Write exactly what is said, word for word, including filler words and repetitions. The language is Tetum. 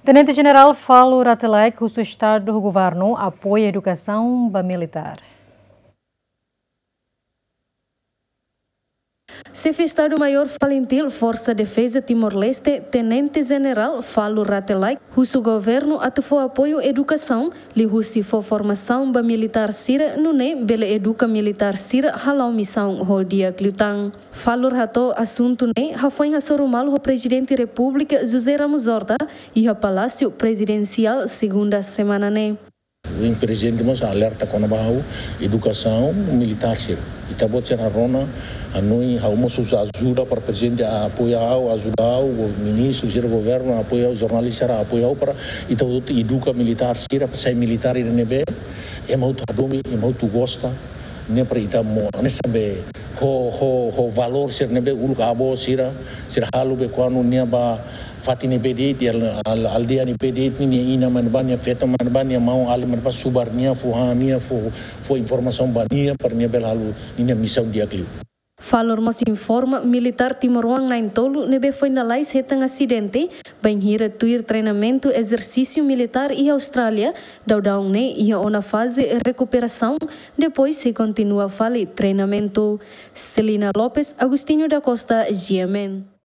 Tenente Jenerál Falur Rate Laek husu Estadu ho Governu apoiu edukasaun ba militár. Xefe Estadu-Maiór Falintil Forsa Defeza Timor-Leste, Tenente Jenerál Falur Rate Laek, husu governu atu fó apoiu edukasaun, liuhusi fó formasaun ba militár sira, nune'e bele eduka militár sira hala'o misaun ho di'ak liután. Falur hato'o asuntu ne'e hafoin hasoru malu ho Prezidente Repúblika José Ramos Horta iha Palásiu Prezidensiál, segunda semana ne'e. Ohin Prezidente mós alerta kona-ba ha'u edukasaun militár sira. Ita-boot sira rona, hanoin ha'u mós husu ajuda para Prezidente apoia ha'u, ajuda ha'u, go-, ministru sira, governu apoia ha'u, jornalista sira apoia ha'u para ita hotu eduka militár sira, para sai militár ida ne'ebé ema hotu hadomi, ema hotu gosta, ne'e para ita mo, ne'e sabe, ho, ho, ho valór sira ne'ebé uluk avó sira, sira halo be kuandu nia bá fatin ne'ebé de'it, al-, al-, aldeia ne'ebé de'it, ninia inan mane bá, nia feton mane bá, nia maun-alin mane bá, subar nia, fó han nia, fó, fó informasaun ba nia, para nia bele halo ninia misaun di'ak liu. Falur mós informa militár timoroan na'in-tolu ne'ebé foin lalais hetan asidente, bainhira tuir treinamentu ezersísiu militár iha Austrália, daudaun ne'e iha ona faze rekuperasaun, depois sei kontinua fali treinamentu. Celina Lopes, Agostinho da Costa, G M N.